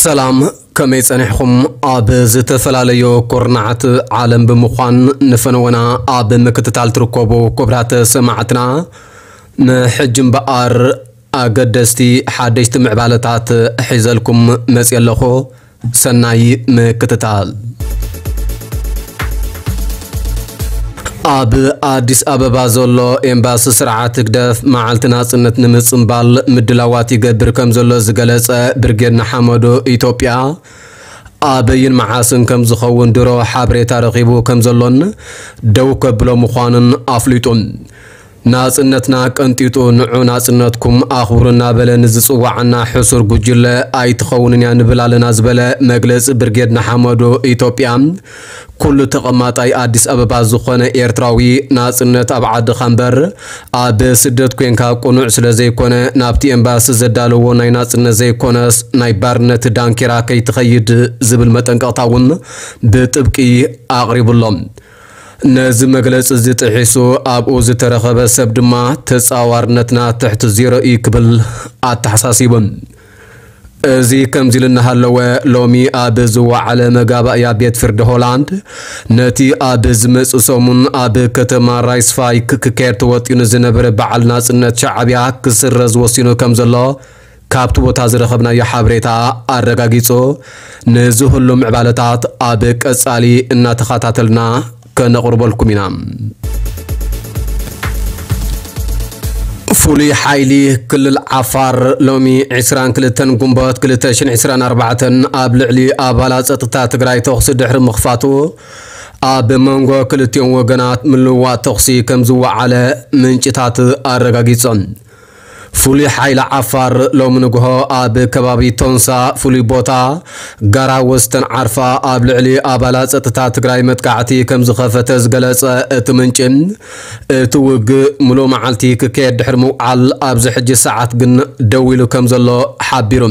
ሰላም፣ ከመይ ጸኒሕኹም? ኣብ ዝተፈላለዩ ኩርናዓት ዓለም ብምዃን ንፈነወና ኣብ ምክትታል ትርከቡ ክቡራት ሰማዕትና፣ ንሕጂ እምበኣር ኣገደስቲ ሓደሽቲ ምዕባለታት ሒዘልኩም መጽየ ኣለኹ። ሰናይ ምክትታል። ኣብ ኣዲስ ኣበባ ዘሎ ኤምባሲ ስርዓት ህግደፍ መዓልቲ ናጽነት ንምጽንባል ምድላዋት ይገብር ከም ዘሎ ዝገለጸ ብርጌድ ንሓመዱ፣ ኢትዮጵያ ኣበይን መዓስን ከም ዝኸውን ድሮ ሓበሬታ ረኺቡ ከም ዘሎን ደው ከብሎ ምዃኑን ኣፍሊጡ። ናጽነትና ቀንጢጡ፣ ንዑ ናጽነትኩም ኣኽብሩ እናበለ ንዝጽዋዓና ሕሱር ጉጅለ ኣይትኸውንን እያ ንብል ኣለና ዝበለ መግለጺ ብርጌድ ንሓመዱ፣ ኢትዮጵያ ኩሉ ተቐማጣይ ኣዲስ ኣበባ ዝኾነ ኤርትራዊ፣ ናጽነት ኣብ ዓድኻ እምበር ኣብ ስደት ኮንካ ቅኑዕ ስለ ዘይኮነ፣ ናብቲ ኤምባሲ ዘዳለዎ ናይ ናጽነት ዘይኮነስ ናይ ባርነት ዳንኬራ ከይትኸይድ ዝብል መጠንቀቕታ እውን ብጥብቂ ኣቕሪቡሎም። ነዚ መግለጺ እዚ ጥሒሱ ኣብኡ ዝተረኸበ ሰብ ድማ ተጻዋርነትና ትሕቲ ዜሮ እዩ ክብል ኣተሓሳሲቡ። እዚ ከምዚ ኢሉ እናሃለወ፣ ሎሚ ኣብ ዝወዓለ መጋባእያ ቤት ፍርዲ ሆላንድ፣ ነቲ ኣብ ዝመጽእ ሰሙን ኣብ ከተማ ራይስፋይክ ክካየድ ተወጢኑ ዝነበረ በዓል ናጽነት ሻዕብያ ክስረዝ ወሲኑ ከም ዘሎ ካብቲ ቦታ ዝረኸብናዮ ሓበሬታ ኣረጋጊጹ። ነዚ ሁሉ ምዕባለታት ኣብ ቀጻሊ እናተኸታተልና ከነቕርበልኩም ኢና። ፍሉይ ሓይሊ ክልል ዓፋር ሎሚ ዕስራን ክልተን ግንቦት ክልተ ሽሕን ዕስራን ኣርባዕተን ኣብ ልዕሊ ኣባላት ጸጥታ ትግራይ ተኹሲ ድሕሪ ምኽፋቱ፣ ኣብ መንጎ ክልቲኦም ወገናት ምልውዋጥ ተኹሲ ከም ዝወዓለ ምንጭታት ኣረጋጊጾም። ፍሉይ ሓይሊ ዓፋር ሎሚ ንግሆ ኣብ ከባቢ ቶንሳ ፍሉይ ቦታ ጋራ ወስተን ዓርፋ ኣብ ልዕሊ ኣባላት ጸጥታ ትግራይ መጥቃዕቲ ከም ዝኸፈተ ዝገለጸ እቲ ምንጪ፣ እቲ ውግእ ምሉእ መዓልቲ ክካየድ ድሕሪ ምውዓል ኣብዚ ሕጂ ሰዓት ግን ደው ኢሉ ከም ዘሎ ሓቢሩ።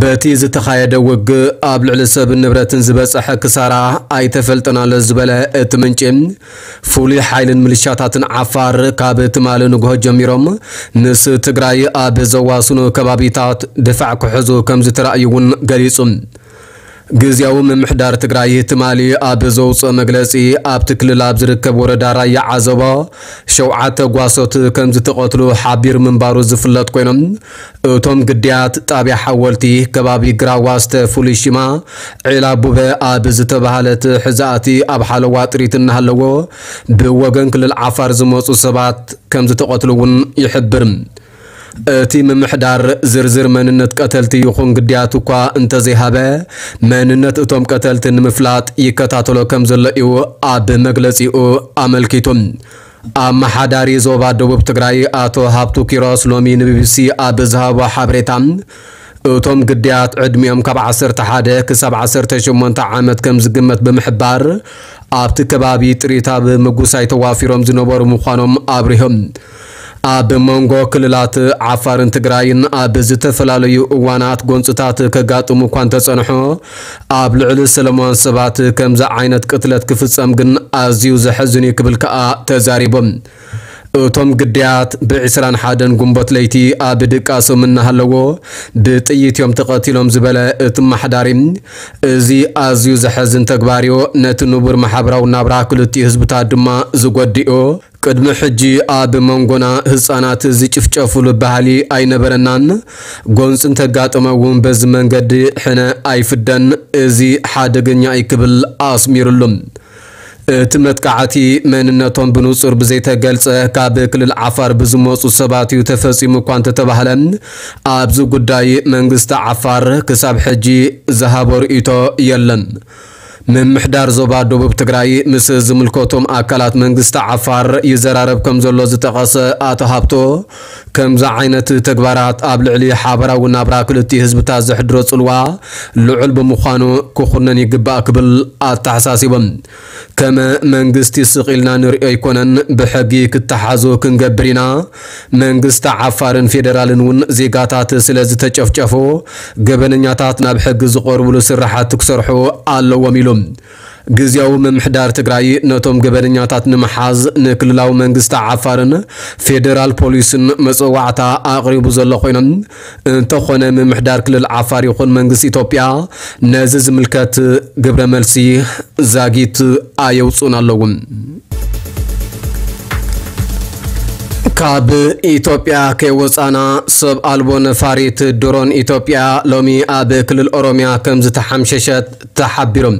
በቲ ዝተኻየደ ውግእ ኣብ ልዕሊ ሰብን ንብረትን ዝበጸሐ ክሳራ ኣይተፈልጠን ኣሎ ዝበለ እቲ ምንጪ፣ ፍሉይ ሓይልን ምልሻታትን ዓፋር ካብ ትማሊ ንግሆ ጀሚሮም ምስ ትግራይ ኣብ ዘዋስኑ ከባቢታት ድፋዕ ክሕዙ ከም ዝተራእዩ እውን ገሊጹ። ግዝያዊ ምምሕዳር ትግራይ ትማሊ ኣብ ዘውፅኦ መግለፂ፣ ኣብቲ ክልል ኣብ ዝርከብ ወረዳ ራያ ዓዘቦ ሸውዓተ ጓሶት ከም ዝተቐትሉ ሓቢሩ ምንባሩ ዝፍለጥ ኮይኖም፣ እቶም ግዳያት ጣብያ ሓወልቲ ከባቢ ግራዋ ዝተ ፍሉይ ሽማ ዒላ ቡበ ኣብ ዝተባሃለት ሕዛእቲ ኣብ ሓለዋ ጥሪት እናሃለዎ ብወገን ክልል ዓፋር ዝመፁ ሰባት ከም ዝተቐትሉ እውን ይሕብር። እቲ ምምሕዳር ዝርዝር መንነት ቀተልቲ ይኹን ግዳያት እኳ እንተዘይሃበ፣ መንነት እቶም ቀተልቲ ንምፍላጥ ይከታተሎ ከም ዘሎ እዩ ኣብ መግለጺኡ ኣመልኪቱ። ኣመሓዳሪ ዞባ ደቡብ ትግራይ ኣቶ ሃብቱ ኪሮስ ሎሚ ንቢቢሲ ኣብ ዝሃቦ ሓበሬታ፣ እቶም ግዳያት ዕድሚኦም ካብ ዓሰርተ ሓደ ክሳብ ዓሰርተ ሸሞንተ ዓመት ከም ዝግመት ብምሕባር፣ ኣብቲ ከባቢ ጥሪት ኣብ ምጉሳይ ተዋፊሮም ዝነበሩ ምዃኖም ኣብሪሆም። ኣብ መንጎ ክልላት ዓፋርን ትግራይን ኣብ ዝተፈላለዩ እዋናት ጎንፅታት ከጋጥሙ እኳ እንተፀንሑ፣ ኣብ ልዕሊ ሰለማውያን ሰባት ከምዚ ዓይነት ቅትለት ክፍፀም ግን ኣዝዩ ዘሕዝን እዩ ክብል ከኣ ተዛሪቦም። እቶም ግዳያት ብዕስራን ሓደን ግንቦት ለይቲ ኣብ ድቃሶም እናሃለዎ ብጥይት እዮም ተቐቲሎም ዝበለ እቲ ኣመሓዳሪ፣ እዚ ኣዝዩ ዘሕዝን ተግባር እዩ፣ ነቲ ንቡር ማሕበራዊ ናብራ ክልቲኡ ህዝብታት ድማ ዝጎድእ እዩ። ቅድሚ ሕጂ ኣብ መንጎና ህጻናት ዝጭፍጨፉሉ ባህሊ ኣይነበረናን። ጎንጺ እንተጋጠመ እውን በዚ መንገዲ ሕነ ኣይፍደን። እዚ ሓደገኛ እዩ ክብል ኣስሚሩሉ። እቲ መጥቃዕቲ መንነቶም ብንጹር ብዘይተገልጸ ካብ ክልል ዓፋር ብዝመጹ ሰባት እዩ ተፈጺሙ እኳ እንተተባህለ፣ ኣብዚ ጉዳይ መንግስቲ ዓፋር ክሳብ ሕጂ ዝሃቦ ርእይቶ የለን። ምምሕዳር ዞባ ደቡብ ትግራይ ምስ ዝምልከቶም ኣካላት መንግስቲ ዓፋር ይዘራረብ ከም ዘሎ ዝጠቐሰ ኣቶ ሃብቶ፣ ከምዚ ዓይነት ተግባራት ኣብ ልዕሊ ሓበራዊ ናብራ ክልቲኡ ህዝብታት ዘሕድሮ ጽልዋ ልዑል ብምዃኑ ክኹነን ይግባእ ክብል ኣተሓሳሲቦም። ከም መንግስቲ ስቕ ኢልና ንሪኦ ኣይኮነን፣ ብሕጊ ክተሓዙ ክንገብር ኢና። መንግስቲ ዓፋርን ፌደራልን እውን ዜጋታት ስለ ዝተጨፍጨፉ፣ ገበነኛታት ናብ ሕጊ ዝቐርብሉ ስራሓት ክሰርሑ ኣለዎም ኢሉ። ግዝያዊ ምምሕዳር ትግራይ ነቶም ገበነኛታት ንምሓዝ ንክልላዊ መንግስቲ ዓፋርን ፌደራል ፖሊስን መጸዋዕታ ኣቕሪቡ ዘሎ ኮይኖም፣ እንተኾነ ምምሕዳር ክልል ዓፋር ይኹን መንግስቲ ኢትዮጵያ ነዚ ዝምልከት ግብረ መልሲ ዛጊት ኣየውፅኡን ኣለዉ። ካብ ኢትዮጵያ ከይወፃና ሰብ ኣልቦ ነፋሪት ድሮን ኢትዮጵያ ሎሚ ኣብ ክልል ኦሮሚያ ከም ዝተሓምሸሸት ተሓቢሮም።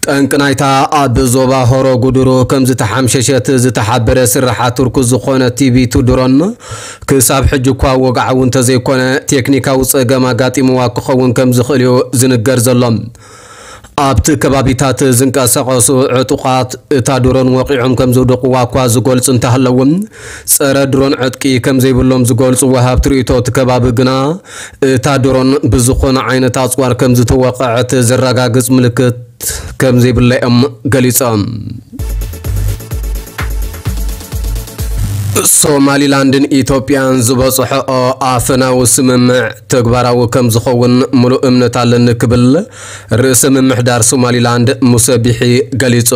ጠንቂ ናይታ ኣብ ዞባ ሆሮ ጉድሩ ከም ዝተሓምሸሸት ዝተሓበረ ስርሓ ቱርክ ዝኾነ ቲቪ ቱ ድሮን ክሳብ ሕጂ እኳ ወግዓዊ እንተዘይኮነ ቴክኒካዊ ጸገም ኣጋጢምዋ ክኸውን ከም ዝኽእል እዩ ዝንገር ዘሎ። ኣብቲ ከባቢታት ዝንቀሳቐሱ ዕጡቓት እታ ድሮን ወቒዖም ከም ዝውድቕዋ እኳ ዝገልጹ እንተሃለዉ፣ ጸረ ድሮን ዕጥቂ ከም ዘይብሎም ዝገልጹ ወሃብቲ ርእይቶ እቲ ከባቢ ግና እታ ድሮን ብዝኾነ ዓይነት ኣጽዋር ከም ዝተወቕዐት ዘረጋግጽ ምልክት ከም ዘይብላ እዮም ገሊጾም። ሶማሊላንድን ኢትዮጵያን ዝበጽሖኦ ኣፈናዊ ስምምዕ ተግባራዊ ከም ዝኸውን ምሉእ እምነት ኣለኒ ክብል ርእሰ ምምሕዳር ሶማሊላንድ ሙሰ ቢሒ ገሊጹ።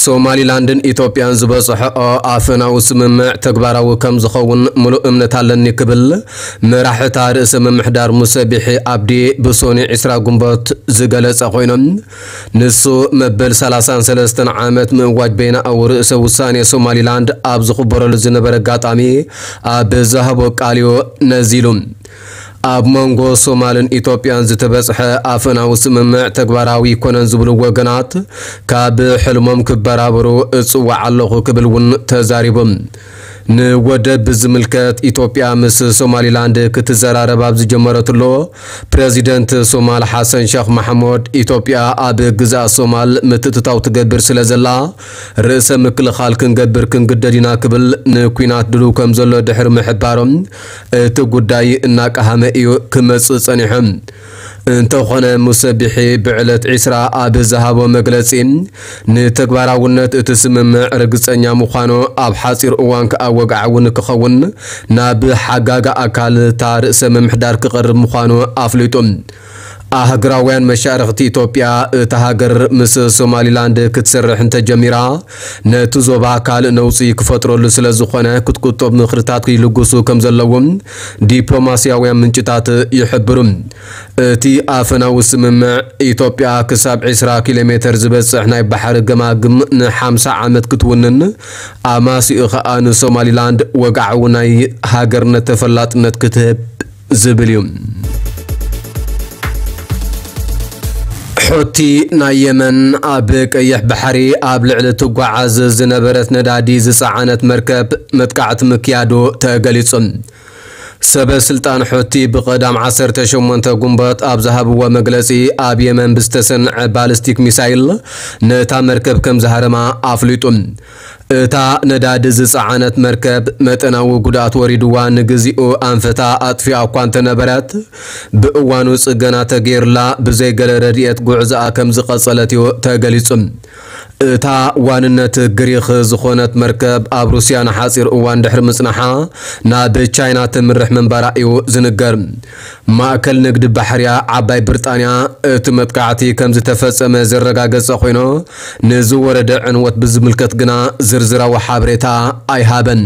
ሶማሊላንድን ኢትዮጵያን ዝበጽሖኦ ኣፈናዊ ስምምዕ ተግባራዊ ከም ዝኸውን ምሉእ እምነት ኣለኒ ክብል መራሕታ ርእሰ ምምሕዳር ሙሰ ቢሒ ኣብዲ ብሶኒ ዕስራ ግንቦት ዝገለጸ ኮይኖም፣ ንሱ መበል ሰላሳን ሰለስተን ዓመት ምእዋጅ በይናዊ ርእሰ ውሳኔ ሶማሊላንድ ኣብ ዝኽበረሉ ዝነበረ ኣጋጣሚ ኣብ ዝሃቦ ቃልዮ ነዚሉ። ኣብ መንጎ ሶማልን ኢትዮጵያን ዝተበጽሐ ኣፈናዊ ስምምዕ ተግባራዊ ይኮነን ዝብሉ ወገናት ካብ ሕልሞም ክበራበሩ እጽዋዕ ኣለኹ ክብል እውን ተዛሪቡ። ንወደብ ብዝምልከት ኢትዮጵያ ምስ ሶማሊላንድ ክትዘራረብ ኣብ ዝጀመረትሎ፣ ፕረዚደንት ሶማል ሓሰን ሸኽ ማሕሙድ ኢትዮጵያ ኣብ ግዝኣት ሶማል ምትእትታው ትገብር ስለ ዘላ፣ ርእሰ ምክልኻል ክንገብር ክንግደድ ኢና ክብል ንኲናት ድሉው ከም ዘሎ ድሕሪ ምሕባሮም፣ እቲ ጉዳይ እናቀሃመ እዩ ክመጽእ ጸኒሑ። እንተኾነ ሙሰ ቢሒ ብዕለት ዕስራ ኣብ ዝሃቦ መግለጺ፣ ንተግባራውነት እቲ ስምምዕ ርግጸኛ ምዃኑ ኣብ ሓጺር እዋን ከኣ ወግዓዊ ንክኸውን ናብ ሓጋጋ ኣካል እታ ርእሰ ምምሕዳር ክቐርብ ምዃኑ ኣፍሊጡ። ኣህግራውያን መሻርኽቲ ኢትዮጵያ እታ ሃገር ምስ ሶማሊላንድ ክትሰርሕ እንተጀሚራ፣ ነቲ ዞባ ካልእ ነውጺ ክፈጥረሉ ስለ ዝኾነ ክትቁጠብ ምኽርታት ይልግሱ ከም ዘለዎም ዲፕሎማስያውያን ምንጭታት ይሕብሩ። እቲ ኣፈናዊ ስምምዕ፣ ኢትዮጵያ ክሳብ ዕስራ ኪሎ ሜተር ዝበጽሕ ናይ ባሕሪ ገማግም ንሓምሳ ዓመት ክትውንን፣ ኣማሲኡ ኸኣ ንሶማሊላንድ ወግዓዊ ናይ ሃገርነት ተፈላጥነት ክትህብ ዝብል እዩ። ሑቲ ናይ የመን ኣብ ቀይሕ ባሕሪ ኣብ ልዕሊ ትጓዓዝ ዝነበረት ነዳዲ ዝጸዓነት መርከብ መጥቃዕቲ ምክያዱ ተገሊጹ። ሰበ ስልጣን ሑቲ ብቐዳም ዓሰርተ ሸሞንተ ግንቦት ኣብ ዝሃብዎ መግለጺ፣ ኣብ የመን ብዝተሰንዐ ባሊስቲክ ሚሳይል ነታ መርከብ ከም ዝሃረማ ኣፍሊጡ። እታ ነዳዲ ዝጸዓነት መርከብ መጠናዊ ጉድኣት ወሪድዋ ንግዚኡ ኣንፈታ ኣጥፊኣ እኳ እንተነበረት፣ ብእዋኑ ጽገና ተገይሩላ ብዘይ ገለ ረድኤት ጉዕዞኣ ከም ዝቐጸለት እዩ ተገሊጹ። እታ ዋንነት ግሪኽ ዝኾነት መርከብ ኣብ ሩስያ ንሓጺር እዋን ድሕሪ ምጽናሓ ናብ ቻይና ትምርሕ ምንባራ እዩ ዝንገር። ማእከል ንግዲ ባሕርያ ዓባይ ብሪጣንያ እቲ መጥቃዕቲ ከም ዝተፈጸመ ዘረጋገጸ ኮይኑ፣ ንዝወረደ ዕንወት ብዝምልከት ግና ዝርዝራዊ ሓበሬታ ኣይሃበን።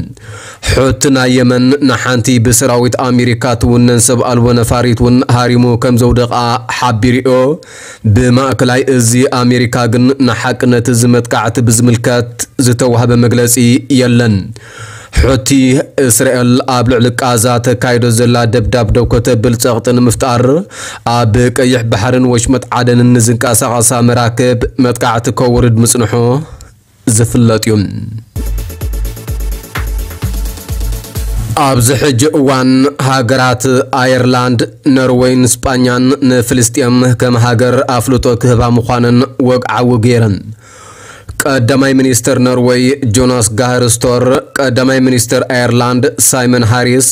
ሑቲ ናይ የመን ንሓንቲ ብሰራዊት ኣሜሪካ ትውነን ሰብ ኣልቦ ነፋሪት እውን ሃሪሙ ከም ዘውደቓ ሓቢሩዮ። ብማእከላይ እዚ ኣሜሪካ ግን ንሓቅነት እዚ መጥቃዕቲ ብዝምልከት ዝተዋህበ መግለጺ የለን። ሑቲ፣ እስራኤል ኣብ ልዕሊ ቃዛ ተካይዶ ዘላ ደብዳብ ደው ከተብል ጸቕጢ ንምፍጣር፣ ኣብ ቀይሕ ባሕርን ወሽመጥ ዓደንን ንዝንቀሳቐሳ መራክብ መጥቃዕቲ ከውርድ ምጽንሑ ዝፍለጥ እዩ። ኣብዚ ሕጂ እዋን፣ ሃገራት ኣየርላንድ፣ ኖርወይን ስጳኛን ንፍልስጤም ከም ሃገር ኣፍልጦ ክህባ ምዃነን ወግዓዊ ገይረን። ቀዳማይ ሚኒስተር ኖርወይ ጆናስ ጋህር ስቶር፣ ቀዳማይ ሚኒስተር ኣየርላንድ ሳይመን ሃሪስ፣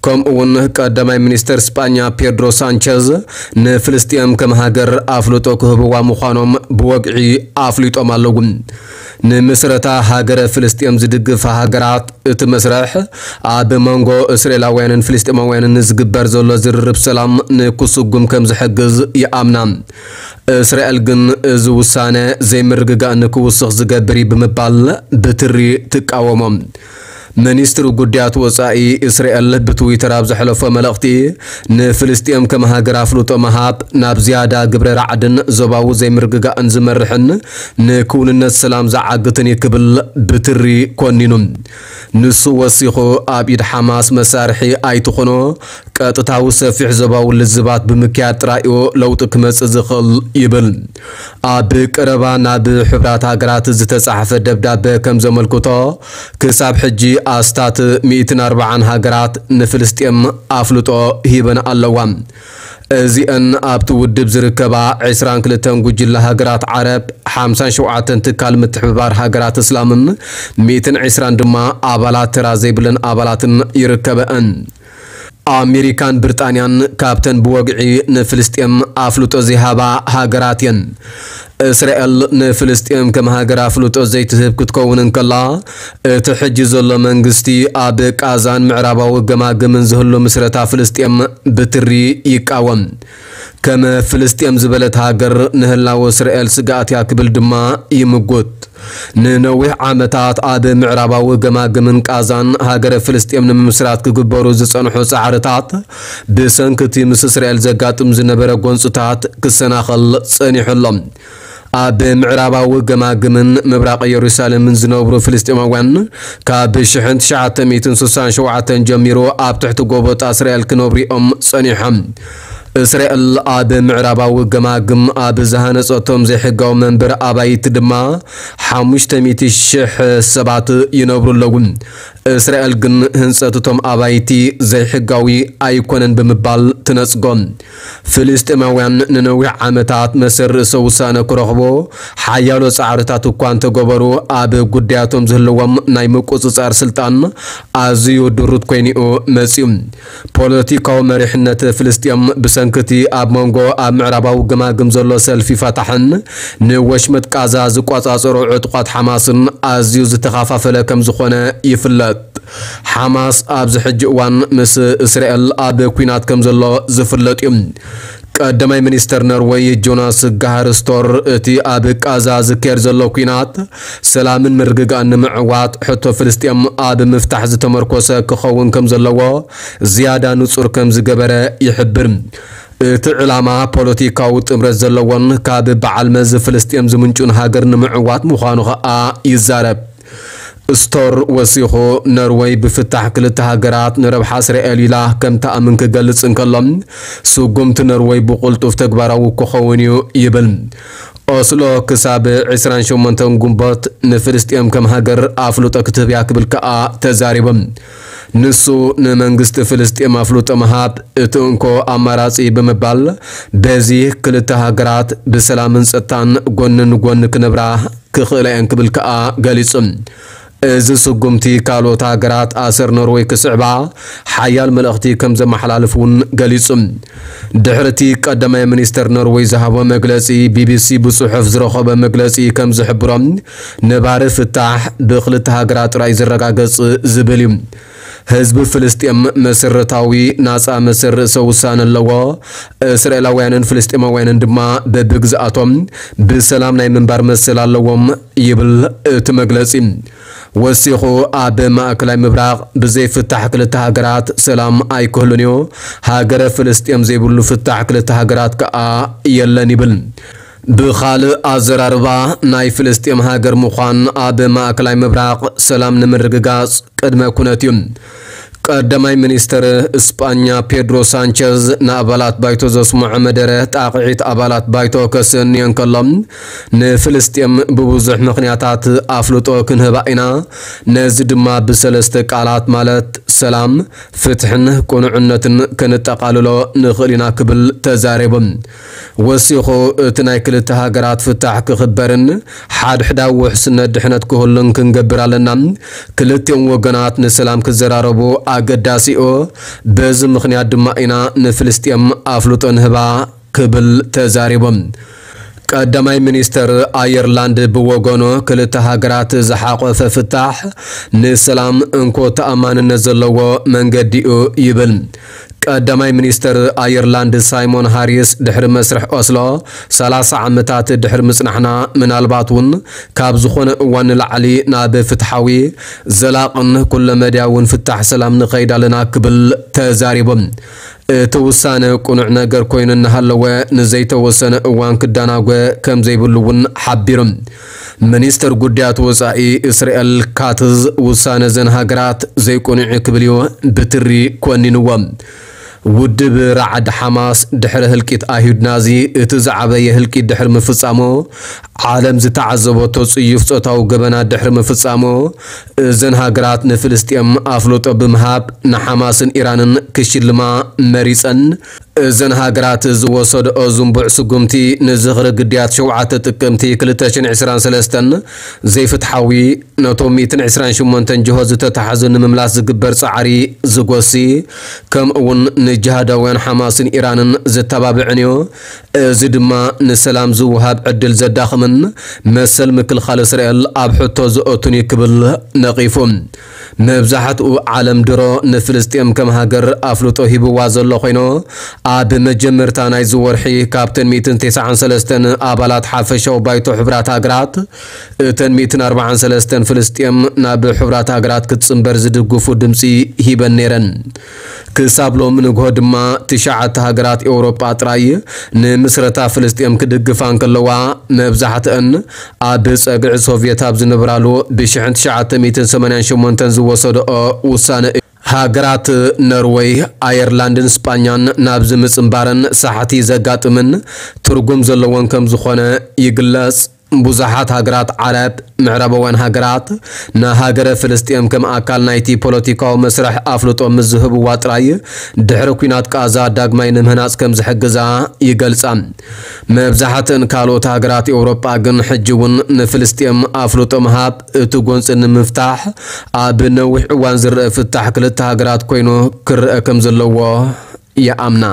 ከምኡ እውን ቀዳማይ ሚኒስተር ስጳኛ ፔድሮ ሳንቸዝ ንፍልስጤም ከም ሃገር ኣፍልጦ ክህብዋ ምዃኖም ብወግዒ ኣፍሊጦም ኣለዉ። ንምስረታ ሃገረ ፍልስጤም ዝድግፋ ሃገራት እቲ መስርሕ ኣብ መንጎ እስራኤላውያንን ፍልስጤማውያንን ዝግበር ዘሎ ዝርርብ ሰላም ንክስጉም ከም ዝሕግዝ ይኣምና። እስራኤል ግን እዚ ውሳነ ዘይምርግጋእ ንክውስኽ ዝገብር እዩ ብምባል ብትሪ ትቃወሞ። ሚኒስትሪ ጉዳያት ወጻኢ እስራኤል ብትዊተር ኣብ ዘሕለፎ መልእኽቲ፣ ንፍልስጤም ከም ሃገር ኣፍልጦ ምሃብ ናብ ዝያዳ ግብረ ራዕድን ዞባዊ ዘይምርግጋእን ዝመርሕን ንክውንነት ሰላም ዝዓግትን እዩ ክብል ብትሪ ኮኒኑ። ንሱ ወሲኹ፣ ኣብ ኢድ ሓማስ መሳርሒ ኣይትኾኖ፣ ቀጥታዊ ሰፊሕ ዞባዊ ልዝባት ብምክያድ ጥራይ እዩ ለውጢ ክመጽእ ዝኽእል ይብል። ኣብ ቀረባ ናብ ሕቡራት ሃገራት ዝተጻሕፈ ደብዳበ ከም ዘመልክቶ፣ ክሳብ ሕጂ ኣስታት ሚእትን ኣርባዓን ሃገራት ንፍልስጤም ኣፍልጦ ሂበን ኣለዋ። እዚአን ኣብቲ ውድብ ዝርከባ ዕስራን ክልተን ጉጅለ ሃገራት ዓረብ፣ ሓምሳን ሸውዓተን ትካል ምትሕብባር ሃገራት እስላምን ሚእትን ዕስራን ድማ ኣባላት ተራ ዘይብለን ኣባላትን ይርከበአን። ኣሜሪካን ብሪጣንያን ካብተን ብወግዒ ንፍልስጤም ኣፍልጦ ዘይሃባ ሃገራት እየን። እስራኤል ንፍልስጤም ከም ሃገር ኣፍልጦ ዘይትህብ ክትከውን እንከላ፣ እቲ ሕጂ ዘሎ መንግስቲ ኣብ ቃዛን ምዕራባዊ ገማግምን ዝህሉ ምስረታ ፍልስጤም ብትሪ ይቃወም። ከም ፍልስጤም ዝበለት ሃገር ንህላወ እስራኤል ስግኣት እያ ክብል ድማ ይምጉት። ንነዊሕ ዓመታት ኣብ ምዕራባዊ ገማግምን ቃዛን ሃገረ ፍልስጤም ንምምስራት ክግበሩ ዝጸንሑ ጻዕርታት፣ ብሰንኪ እቲ ምስ እስራኤል ዘጋጥም ዝነበረ ጎንጽታት ክሰናኸል ጸኒሑ ኣሎ። ኣብ ምዕራባዊ ገማግምን ምብራቕ የሩሳሌምን ዝነብሩ ፍልስጤማውያን፣ ካብ ሽሕን ትሽዓተ ሚእትን ስሳን ሸውዓተን ጀሚሩ ኣብ ትሕቲ ጎቦ እስራኤል ክነብሩ እዮም ጸኒሖም። እስራኤል ኣብ ምዕራባዊ ገማግም ኣብ ዝሃነጸቶም ዘይሕጋዊ መንበሪ ኣባይቲ ድማ ሓሙሽተ ሚእቲ ሽሕ ሰባት ይነብሩ ኣለዉ። እስራኤል ግን ህንጸት እቶም ኣባይቲ ዘይሕጋዊ ኣይኮነን ብምባል ትነጽጎ። ፍልስጤማውያን ንነዊሕ ዓመታት መሰል ርእሰ ውሳነ ክረኽቡ ሓያሎ ጻዕርታት እኳ እንተገበሩ፣ ኣብ ጉዳያቶም ዝህልዎም ናይ ምቁጽጻር ስልጣን ኣዝዩ ድሩት ኮይኑ'ዩ መጺኡ። ፖለቲካዊ መሪሕነት ፍልስጤም ብሰንኪ እቲ ኣብ መንጎ ኣብ ምዕራባዊ ገማግም ዘሎ ሰልፊ ፋታሕን ንወሽመጥ ቃዛ ዝቆጻጸሩ ዕጡቓት ሓማስን ኣዝዩ ዝተኸፋፈለ ከም ዝኾነ ይፍለጥ። ሓማስ ኣብዚ ሕጂ እዋን ምስ እስራኤል ኣብ ኲናት ከም ዘሎ ዝፍለጥ እዩ። ቀዳማይ ሚኒስተር ኖርወይ ጆናስ ጋሃር ስቶር፣ እቲ ኣብ ቃዛ ዝካየድ ዘሎ ኲናት ሰላምን ምርግጋእን ንምዕዋት ሕቶ ፍልስጤም ኣብ ምፍታሕ ዝተመርኮሰ ክኸውን ከም ዘለዎ ዝያዳ ንጹር ከም ዝገበረ ይሕብር። እቲ ዕላማ ፖለቲካዊ ጥምረት ዘለዎን ካብ በዓል መዚ ፍልስጤም ዝምንጩን ሃገር ንምዕዋት ምዃኑ ኸኣ ይዛረብ። ስቶር ወሲኹ፣ ኖርወይ ብፍታሕ ክልተ ሃገራት ንረብሓ እስራኤል ኢላ ከም ትኣምን ክገልጽ እንከሎ፣ ስጉምቲ ኖርወይ ብቕልጡፍ ተግባራዊ ክኸውን እዩ ይብል። ኦስሎ ክሳብ ዕስራን ሸሞንተን ግንቦት ንፍልስጤም ከም ሃገር ኣፍልጦ ክትህብ እያ ክብል ከኣ ተዛሪቡ። ንሱ ንመንግስቲ ፍልስጤም ኣፍልጦ ምሃብ እቲ እንኮ ኣማራጺ ብምባል፣ በዚ ክልተ ሃገራት ብሰላምን ጸጥታን ጎኒ ንጎኒ ክነብራ ክኽእላ እየን ክብል ከኣ ገሊጹ። እዚ ስጉምቲ ካልኦት ሃገራት ኣሰር ኖርወይ ክስዕባ ሓያል መልእኽቲ ከም ዘመሓላልፍ እውን ገሊጹ። ድሕሪ እቲ ቀዳማይ ሚኒስተር ኖርወይ ዝሃቦ መግለጺ፣ ቢቢሲ ብጽሑፍ ዝረኸቦ መግለጺ ከም ዝሕብሮ፣ ነባሪ ፍታሕ ብክልተ ሃገራት ጥራይ ዝረጋገጽ ዝብል እዩ። ህዝቢ ፍልስጤም መሰረታዊ ናጻ መሰል ርእሰ ውሳነ ኣለዎ። እስራኤላውያንን ፍልስጤማውያንን ድማ በብግዝኣቶም ብሰላም ናይ ምንባር መሰል ኣለዎም ይብል እቲ መግለጺ። ወሲኹ፣ ኣብ ማእከላይ ምብራቕ ብዘይ ፍታሕ ክልተ ሃገራት ሰላም ኣይክህሉን እዩ። ሃገረ ፍልስጤም ዘይብሉ ፍታሕ ክልተ ሃገራት ከኣ የለን ይብል። ብኻልእ ኣዘራርባ፣ ናይ ፍልስጤም ሃገር ምዃን ኣብ ማእከላይ ምብራቕ ሰላም ንምርግጋጽ ቅድመ ኩነት እዩ። ቀዳማይ ሚኒስተር እስጳኛ ፔድሮ ሳንቸዝ ንኣባላት ባይቶ ዘስምዖ መደረ ጣቕዒት ኣባላት ባይቶ ከስእን እየን ከሎ፣ ንፍልስጤም ብብዙሕ ምኽንያታት ኣፍልጦ ክንህባ ኢና፣ ነዚ ድማ ብሰለስተ ቃላት ማለት ሰላም፣ ፍትሕን ቅኑዕነትን ከነጠቓልሎ ንኽእል ኢና ክብል ተዛሪቡ። ወሲኹ፣ እቲ ናይ ክልተ ሃገራት ፍታሕ ክኽበርን ሓድሕዳዊ ውሕስነት ድሕነት ክህሉን ክንገብር ኣለና። ክልቲኦም ወገናት ንሰላም ክዘራረቡ ኣገዳሲ እዩ። በዚ ምኽንያት ድማ ኢና ንፍልስጤም ኣፍልጦ ንህባ ክብል ተዛሪቦም። ቀዳማይ ሚኒስተር ኣየርላንድ ብወገኑ፣ ክልተ ሃገራት ዝሓቆፈ ፍታሕ ንሰላም እንኮ ተኣማንነት ዘለዎ መንገዲ እዩ ይብል። ቀዳማይ ሚኒስተር ኣየርላንድ ሳይሞን ሃሪስ ድሕሪ መስርሕ ኦስሎ ሰላሳ ዓመታት ድሕሪ ምጽናሕና፣ ምናልባት እውን ካብ ዝኾነ እዋን ንላዕሊ ናብ ፍትሓዊ፣ ዘላቕን ኩለመዳያውን ፍታሕ ሰላም ንኸይድ ኣለና ክብል ተዛሪቡ። እቲ ውሳነ ቅኑዕ ነገር ኮይኑ እናሃለወ፣ ንዘይተወሰነ እዋን ክዳናጎ ከም ዘይብሉ እውን ሓቢሩ። ሚኒስተር ጉዳያት ወጻኢ እስራኤል ካትዝ ውሳነ ዘን ሃገራት ዘይቅኑዕ ክብል እዩ ብትሪ ኮኒንዎ። ውድብ ራዕድ ሓማስ ድሕሪ ህልቂት ኣይሁድ ናዚ እቲ ዝዓበየ ህልቂት ድሕሪ ምፍጻሙ፣ ዓለም ዝተዓዘበቶ ጽዩፍ ጾታዊ ገበናት ድሕሪ ምፍጻሙ፣ እዘን ሃገራት ንፍልስጤም ኣፍልጦ ብምሃብ ንሓማስን ኢራንን ክሽልማ መሪጸን። እዘን ሃገራት ዝወሰድኦ ዝንቡዕ ስጉምቲ ንዝኽሪ ግዳያት ሸውዓተ ጥቅምቲ ክልተ ሽሕን ዕስራን ሰለስተን ዘይፍትሓዊ፣ ነቶም ሚእትን ዕስራን ሸሞንተን ጅሆ ዝተታሕዙ ንምምላስ ዝግበር ጻዕሪ ዝጎሲ፣ ከምኡ እውን ንጅሃዳውያን ሓማስን ኢራንን ዘተባብዕን እዩ። እዚ ድማ ንሰላም ዝወሃብ ዕድል ዘዳኽምን መሰል ምክልኻል እስራኤል ኣብ ሕቶ ዘእቱን እዩ ክብል ነቒፉ። መብዛሕትኡ ዓለም ድሮ ንፍልስጤም ከም ሃገር ኣፍልጦ ሂብዋ ዘሎ ኮይኑ፣ ኣብ መጀመርታ ናይዚ ወርሒ ካብተን ሚእትን ተስዓን ሰለስተን ኣባላት ሓፈሻዊ ባይቶ ሕቡራት ሃገራት፣ እተን ሚእትን ኣርባዓን ሰለስተን ፍልስጤም ናብ ሕቡራት ሃገራት ክትጽንበር ዝድግፉ ድምጺ ሂበን ነይረን። ክሳብ ሎም ንግሆ ድማ ትሽዓተ ሃገራት ኤውሮጳ ጥራይ ንምስረታ ፍልስጤም ክድግፋ እንከለዋ፣ መብዛሕትአን ኣብ ጸግዒ ሶቭየት ኣብ ዝነበራሉ ብሽሕን ትሽዓተ ሚእትን ሰማንያን ሸሞንተን ዝወሰድኦ ውሳነ እዩ። ሃገራት ኖርወይ፣ ኣየርላንድን ስጳኛን ናብዚ ምጽንባረን ሳሕቲ ዘጋጥምን ትርጉም ዘለዎን ከም ዝኾነ ይግለጽ። ብዙሓት ሃገራት ዓረብ፣ ምዕራባውያን ሃገራት፣ ንሃገረ ፍልስጤም ከም ኣካል ናይቲ ፖለቲካዊ መስርሕ ኣፍልጦ ምስ ዝህብዋ ጥራይ፣ ድሕሪ ኲናት ቃዛ ዳግማይ ንምህናጽ ከም ዝሕግዛ ይገልጻ። መብዛሕትአን ካልኦት ሃገራት ኤውሮጳ ግን ሕጂ እውን ንፍልስጤም ኣፍልጦ ምሃብ እቲ ጎንጺ ንምፍታሕ ኣብ ነዊሕ እዋን ዝረአ ፍታሕ ክልተ ሃገራት ኮይኑ ክረአ ከም ዘለዎ ይኣምና።